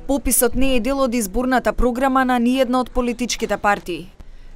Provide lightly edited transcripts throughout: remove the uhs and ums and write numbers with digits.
Пописот не е дел од изборната програма на ниедна од политичките партии.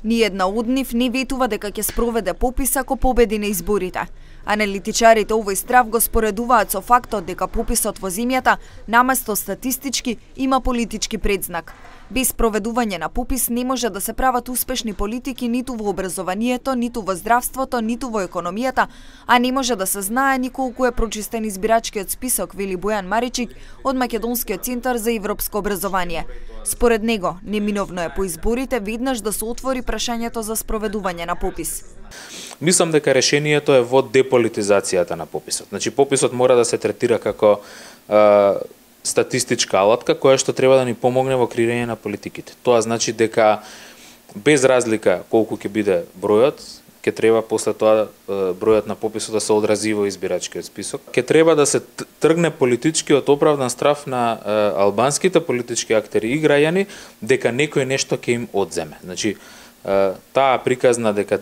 Ниедна од нив не ветува дека ќе спроведе попис ако победи на изборите. Аналитичарите овој страв го споредуваат со фактот дека пописот во земјата, наместо статистички, има политички предзнак. Без проведување на попис не може да се прават успешни политики ниту во образованието, ниту во здравството, ниту во економијата, а не може да се знае ни колку е прочистен избирачкиот список, вели Бојан Маричик од Македонскиот центар за европско образование. Според него, неминовно е по изборите веднаш да се отвори прашањето за спроведување на попис. Мислам дека решението е во деполитизацијата на пописот. Значи, пописот мора да се третира како статистичка алатка која што треба да ни помогне во креирање на политиките. Тоа значи дека без разлика колку ќе биде бројот, ќе треба после тоа бројот на пописот да се одрази во избирачкиот список. Ќе треба да се тргне политичкиот оправдан страв на албанските политички актери и граѓани дека некој нешто ќе им одземе. Значи, таа приказна дека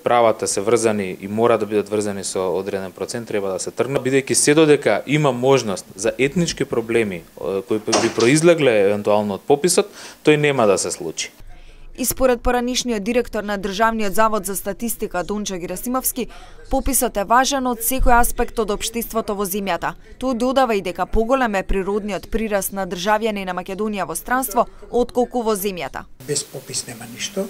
правата се врзани и мора да бидат врзани со одреден процент треба да се тргне, бидејќи се додека има можност за етнички проблеми кои би произлегле евентуално од пописот, тој нема да се случи. И според поранишниот директор на Државниот завод за статистика Дончо Герасимовски, пописот е важен од секој аспект од општеството во земјата. Тој додава и дека поголем е природниот прираст на државјани на Македонија во странство отколку во земјата. Без попис нема ништо.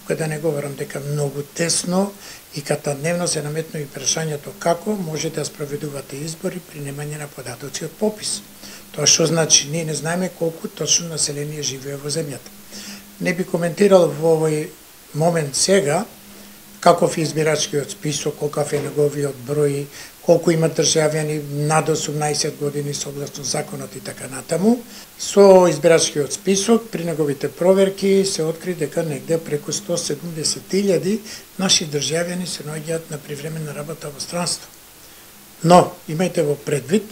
Тука да не говорам дека многу тесно и катадневно се наметно и прашањето како може да спроведувате избори при немање на податоци од попис. Тоа што значи ние не знаеме колку точно население живее во земјата. Не би коментирал во овој момент сега каков е избирачкиот список, колкав е неговиот број, колку има државјани над 18 години согласно законот и така натаму. Со избирачкиот список при неговите проверки се откри дека негде преку 170.000 наши државјани се наоѓаат на привременна работа во странство. Но имајте во предвид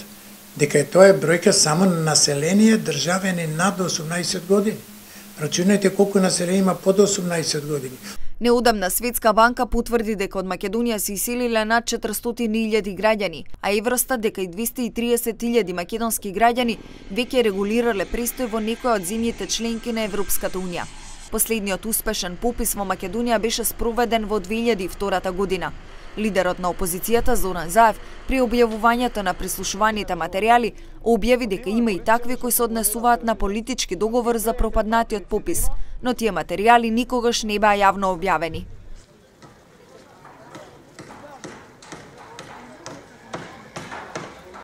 дека тоа е бројка само на население државјани над 18 години. Рачунајте колку население има под 18 години. Неодамна Светска банка потврди дека од Македонија се иселиле над 400.000 граѓани, а Евростат дека и 230.000 македонски граѓани веќе регулирале престој во некоја од земјите членки на Европската унија. Последниот успешен попис во Македонија беше спроведен во 2002 година. Лидерот на опозицијата Зоран Заев при објавувањето на прислушуваните материјали објави дека има и такви кои се однесуваат на политички договор за пропаднатиот попис, но тие материјали никогаш не беа јавно објавени.